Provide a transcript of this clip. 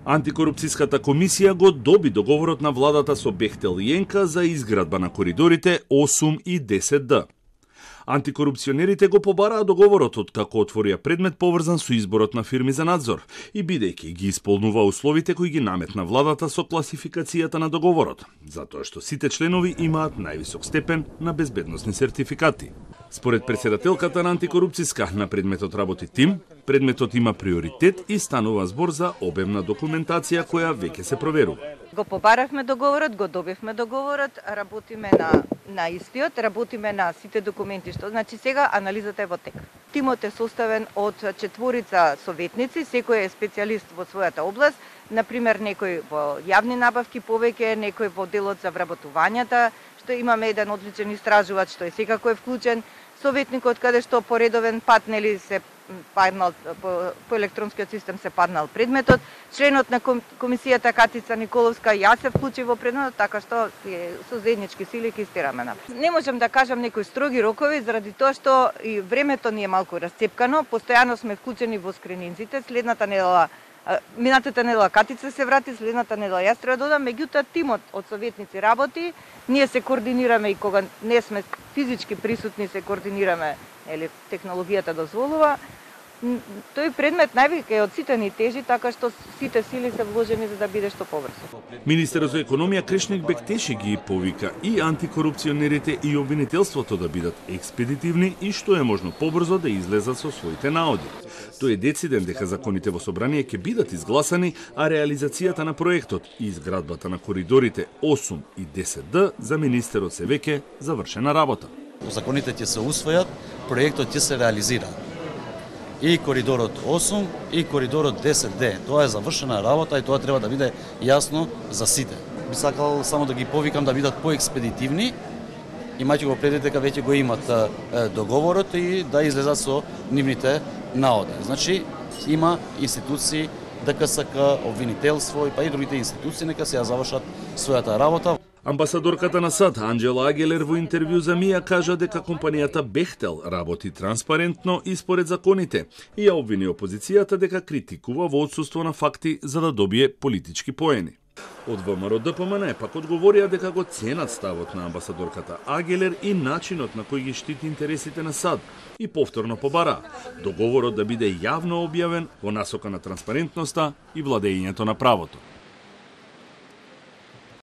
Антикорупцијската комисија го доби договорот на владата со Бехтел и ЕНК за изградба на коридорите 8 и 10Д. Антикорупционерите го побараа договорот откако отворија предмет поврзан со изборот на фирми за надзор и бидејќи ги исполнува условите кои ги наметна владата со класификацијата на договорот, затоа што сите членови имаат највисок степен на безбедносни сертификати. Според претседателката на антикорупцијска на предметот работи тим, предметот има приоритет и станува збор за обемна документација која веќе се проверува. Го побарахме договорот, го добивме договорот, работиме на истиот, работиме на сите документи што значи сега анализата е во тек. Тимот е составен од 4 советници, секој е специјалист во својата област, например некој во јавни набавки повеќе, некој во делот за вработувањата, што имаме еден одличен истражувач што е секако е вклучен, советникот каде што по редовен пат нели се паднал по електронскиот систем се паднал предметот, членот на комисијата Катица Николовска, јас се вклучив во предметот, така што со заеднички сили ќе истераме напред. Не можам да кажам некои строги рокови заради тоа што и времето ни е малку расцепкано, постојано сме вклучени во скрининзите, следната недела минатата недела Катица се врати, следната недела јас треба да одам, меѓутоа тимот од советници работи, ние се координираме и кога не сме физички присутни се координираме, или технологијата дозволува. Тој предмет највеќе од сите ни тежи, така што сите сили се вложени за да биде што побрзо. Министерот за економија Кришник Бектеши ги повика и антикорупционерите и обвинителството да бидат експедитивни и што е можно побрзо да излезат со своите наоди. Тој е дециден дека законите во собрание ќе бидат изгласани, а реализацијата на проектот и изградбата на коридорите 8 и 10Д за министерот се веќе завршена работа. Законите ќе се усвојат, проектот ќе се реализира. И коридорот 8 и коридорот 10Д. Тоа е завршена работа и тоа треба да биде јасно за сите. Би сакал само да ги повикам да бидат поекспедитивни, имајќи го предвид дека веќе го имат договорот и да излезат со нивните наоди. Значи, има институции, ДКСК, обвинителство и па и другите институции нека се ја завршат својата работа. Амбасадорката на САД Анџела Агелер во интервју за МИА кажа дека компанијата Бехтел работи транспарентно и според законите и ја обвини опозицијата дека критикува во отсуство на факти за да добие политички поени. Од ВМРО ДПМН пак одговорија дека го ценат ставот на амбасадорката Агелер и начинот на кој ги штити интересите на САД и повторно побара договорот да биде јавно објавен во насока на транспарентноста и владењето на правото.